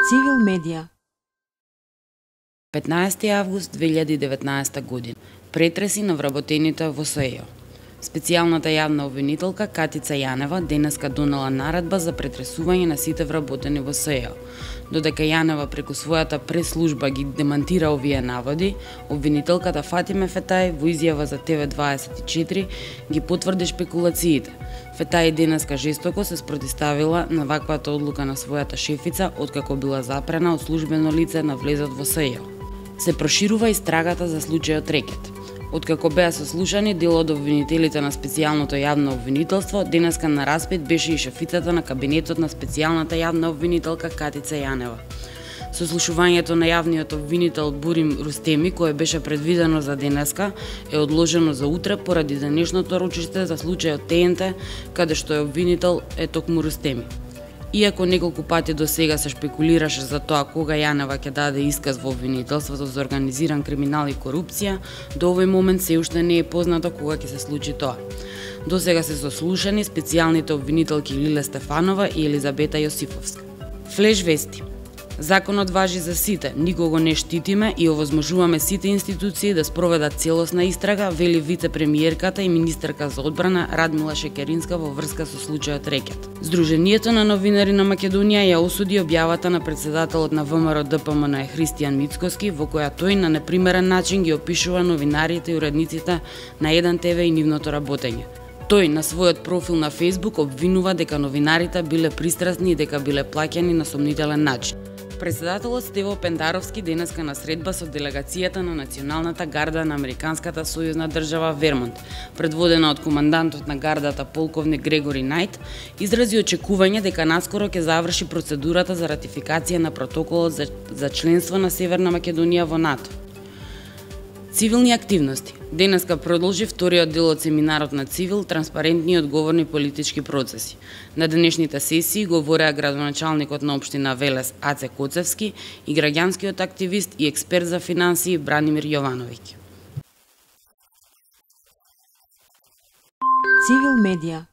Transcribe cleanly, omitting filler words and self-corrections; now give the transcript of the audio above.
Цивил медија. 15 август 2019 година. Претреси на вработените во СЕО. Специјалната јавна обвинителка Катица Јанева денеска донела наредба за претресување на сите вработени во СЕО. Додека Јанева преку својата прес-служба ги демантира овие наводи, обвинителката Фатиме Фетај во изјава за TV24 ги потврди шпекулациите. Фетај денеска жестоко се спротивставила на ваквата одлука на својата шефица откако била запрена од службено лице на влезот во СЕО. Се проширува истрагата за случајот Рекет. Откако беа сослушани дел од обвинителите на специјалното јавно обвинителство, денеска на распит беше и шефицата на кабинетот на специјалната јавна обвинителка Катица Јанева. Сослушувањето на јавниот обвинител Бурим Рустеми, кое беше предвидено за денеска, е одложено за утре поради денешното рочиште за случајот ТНТ, каде што е обвинител е токму Рустеми. Иако неколку пати до сега се шпекулираше за тоа кога Јанева ќе даде исказ во обвинителството за организиран криминал и корупција, до овој момент се уште не е познато кога ќе се случи тоа. До сега се сослушани специјалните обвинителки Лиле Стефанова и Елизабета Јосифовска. Флеш вести. Законот важи за сите, никого не штитиме и овозможуваме сите институции да спроведат целосна истрага, вели вице-премиерката и министерка за одбрана Радмила Шекеринска во врска со случајот Рекет. Сдруженијето на новинари на Македонија ја осуди објавата на председателот на ВМРО ДПМН Христијан Мицкоски, во која тој на непримерен начин ги опишува новинарите и уредниците на 1 ТВ и нивното работење. Тој на својот профил на Facebook обвинува дека новинарите биле пристрасни и дека биле плаќани на сомнителен начин. Председателот Стево Пендаровски денеска на средба со делегацијата на Националната гарда на Американската сојузна држава Вермонт, предводена од командантот на гардата полковник Грегори Најт, изрази очекување дека наскоро ќе заврши процедурата за ратификација на протоколот за членство на Северна Македонија во НАТО. Цивилни активности. Денеска продолжи вториот дел од семинарот на Цивил, транспарентни и одговорни политички процеси. На денешните сесии говореа градоначалникот на општина Велес Аце Коцевски и граѓанскиот активист и експерт за финансии Бранимир Јовановиќ. Цивил медија.